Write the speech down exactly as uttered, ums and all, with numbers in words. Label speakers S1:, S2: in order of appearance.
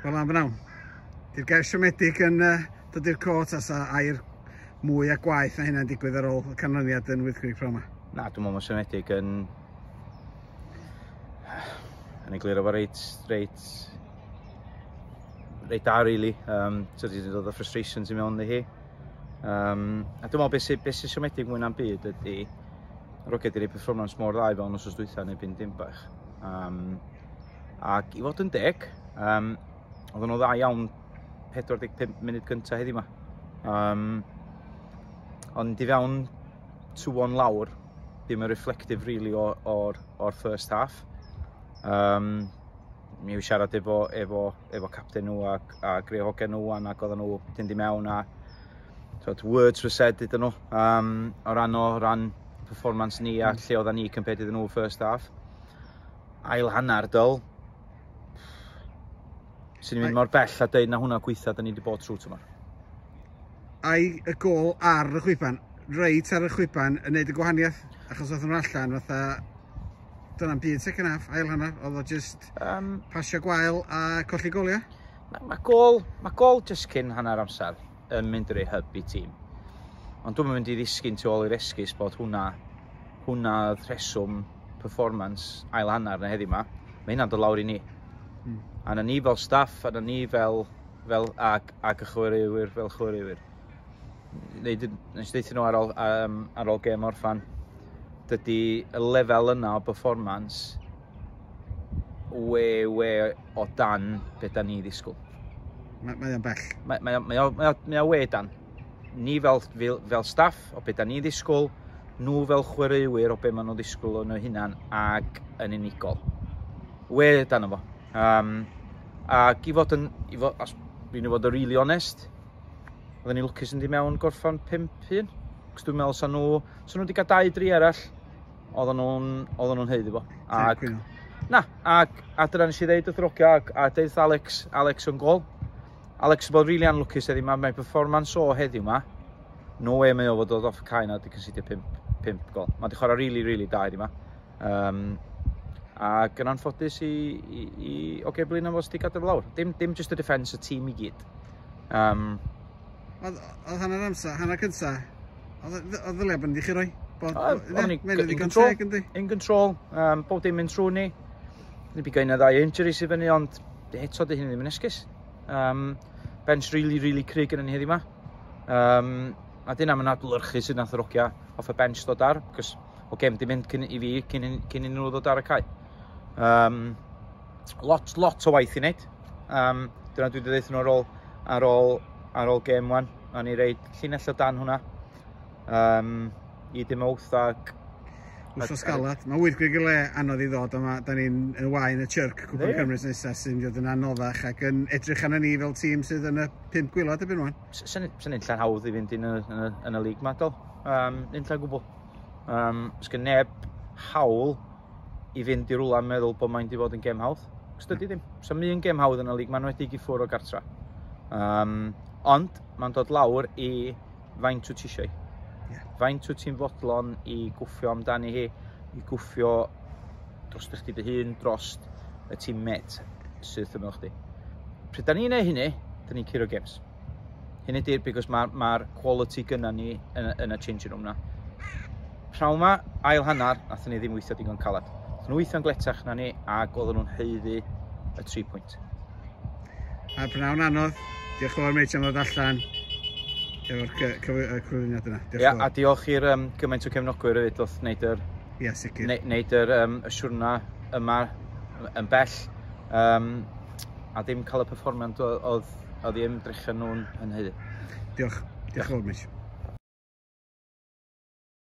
S1: Wel, am bnawn. Di'r gair siomedig yn uh, dod i'r cot as a air mwy a gwaith na hynna'n digwydd ar ôl y canlyniad yn Wyddgrug pnawn 'ma?
S2: Na, dwi'n meddwl mae siomedig yn... yn egluro fo reit, reit, reit da, really. Um, so wedi dod o frustrations i mewn i hi. Um, a dwi'n meddwl beth sy'n be sy siomedig mwy na'n byd ydy yr hogia wedi rhoi performance mor dda i fewn wsos dwytha neu byn Dinbach. Um, ac i fod yn deg, um, oedden nhw dda iawn pedwar deg pump munud gyntaf heddiw 'ma. Um, ond i fewn two one lawr, ddim yn reflective really o'r, or, or first half. Um, mi yw siarad efo, efo, efo captain nhw a, a greu hogia nhw wan ac oedden nhw mynd i mewn a so, words were said iddyn nhw um, o ran o ran performance ni a mm. lle oedden ni compared iddyn nhw first half. Ail hanner dyl. Sy'n ni'n mynd mor bell a deud na hwnna gweitha da ni wedi bod trwy tymor.
S1: Ai y gol ar y chwiban, reit ar y chwiban yn neud y gwahaniaeth? Achos oedd nhw allan fatha, dyna'n byd second half, ail hanner, oedd o just um, pasio gwael a colli goliau?
S2: Mae ma gol, ma gol just cyn hanner amser yn mynd i roi hyb i tîm. Ond dwi'n mynd i ddisgyn tu ôl i'r esgus bod hwnna, hwnna oedd rheswm performance ail hanner na heddiw 'ma. Mae hynna'n dod lawr i ni. Mm. A na ni fel staff, a na ni fel, fel ag, ag y chwaraewyr fel chwaraewyr. Nes i ddeud nhw ar ôl, um, ar ôl gêm orffan, dydy y lefel yna o performance we, we o dan beth da ni ddisgwyl.
S1: Mae, mae o'n bell.
S2: Mae, mae, mae, o, mae, o, mae o we dan. Ni fel, fel, fel staff o beth da ni ddisgwyl, nhw fel chwaraewyr o be maen nhw'n ddisgwyl o'n nhw hunan ag yn unigol. We dan o fo. Um, ac i fod yn, i fod, os fi'n i fod yn really honest, oedden ni lwcus yn di mewn gorffan pump un. Cos dwi'n meddwl sa nhw, sa nhw wedi cael dau dri arall, oedden nhw'n, oedden nhw'n haeddu fo. Ac, na, ac, a dyna nes i ddeud wrth hogia, ac, a deud Alex, Alex yn gol. Alex yn bod really anlwcus heddiw 'ma, mae performance o heddiw 'ma, no way mae o fod dod off y cae na wedi concedio pump, pump gol. Mae wedi chwarae really, really da heddiw 'ma. Um, ac yn anffodus i, i, i oce, Blaenau fod wedi gadael lawr. Dim, dim just y defence, y tîm i gyd. Um,
S1: Oedd oedd hanner amser, hanner cynta, oedd oedd ddylia bod ni chi roi? Bod,
S2: Oedden ni
S1: in
S2: in control,
S1: teg, yndi?
S2: In control, um, bob dim mynd trwy ni. Ni bi gael ddau injuries i fyny, ond eto di hynny ddim yn esgus. Um, bench really, really cryf yn ni heddiw 'ma. Um, a dyna mae'n adlewyrchu sydd nath yr hogia off y bench dod ar, cos o gem di mynd cyn i fi, cyn, cyn i nhw ddod ar y cae. Um, lot, lot o waith i wneud. Um, dyna dwi wedi dweud nhw ar ôl, ar ôl, ar ôl gêm wan. A ni reid llinell o dan hwnna. Um, i dim wrth ac
S1: Wsos galad. Mae Wyddgrug i le anodd i ddod, a ma, da ni'n yn wain y Chirk, Cwpan
S2: Ie.
S1: Cymru nesaf sy'n mynd i fod yn anoddach ac yn edrych arno ni fel tîm sydd yn y pump gwaelod erbyn wan.
S2: Sy'n unlla'n hawdd i fynd yn y, yn y, yn y lig ma, dol. Um, unlla'n gwbl. Um, Sgyn neb hawl i fynd i rwla yn meddwl bod mae'n di fod yn gem hawdd. Cos dydy ddim. So un gem hawdd yn y lig, ma'n wedi i ffwrdd o gartra. Um, ond mae'n dod lawr i faint wyt ti eisiau.
S1: Ie.
S2: Faint wyt ti'n fodlon i gwffio amdani hi, i gwffio dros chdi dy hun, dros y teammate sydd ymwyl chdi. Pryd da ni'n neud hynny, da ni'n curo games. Hynny di'r, because mae'r ma quality gynna ni yn, y- yn y changing room na. Prawn ma, ail hanner, nathon ni ddim weithio digon calad. Nathon nhw weithio'n gletach na ni, ac oedden nhw'n haeddu y tri pwynt.
S1: A prynhawn anodd, diolch yn fawr mate am ddod allan efo'r cy- cyf- y cyflwyniad yna. Diolch
S2: Ia,
S1: yn
S2: a
S1: fawr.
S2: diolch i'r um, gymaint o cefnogwyr hefyd oedd wneud yr,
S1: Ia, sicr.
S2: ne, wneud yr, um, y siwrna yma yn bell. Um, a ddim cael y perfformiad oedd oedd i ymdrechion nhw'n yn haeddu.
S1: Diolch. Diolch yn fawr mate.